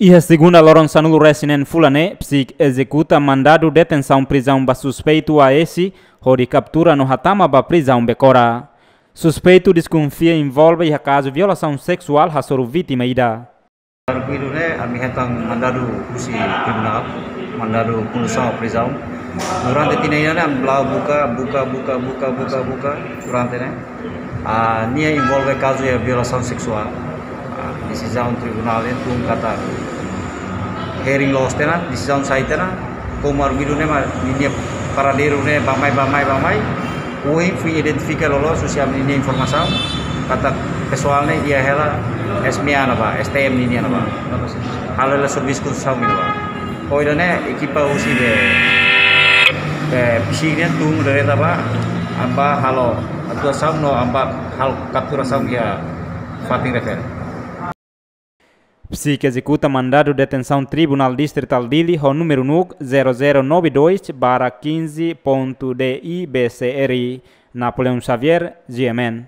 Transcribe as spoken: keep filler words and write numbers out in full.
Iha segunda loron sanulu-resin-neen fulan ne'e, Psik ezekuta mandadu detensaun prizaun ba suspeitu A S, hodi kaptura no hatama ba prizaun Becora. Suspeitu deskonfia envolve iha kazu violasaun seksuál hasoru vítima ida. Arguidu ne'e, ami hetan mandadu husi tribunál, mandadu kondusaun prizaun. Durante tinan ida ne'e, ami blau buka, buka, buka, buka, buka, buka, durante ne'e. Ah, nia envolve kazu iha violasaun seksuál. Ah, desizaun tribunál ne'e tun katak hearing loos tiha ona, desizaun sai tiha ona, komu arguidu ne'e mak ninia paradeiru ne'e bá-mai, bá-mai, bá-mai. Ohin foin identifika loloos husi ami-nia informasaun katak pesoál ne'e iha hela S M A ne'ebá, S T M nian ne'ebá. Halo hela servisu konstrusaun ne'ebá. Ohin ne'e ekipa husi be, be Psik nian tun direta bá, ami bá halo atuasaun no ami bá halo kapturasaun iha fatin refere. Psik ezekuta mandadu detensaun Tribunál Distritál Dili ho númeru NUC zero zero nove dois barra quinze ponto D I B C R. Napoleão Xavier, G M N.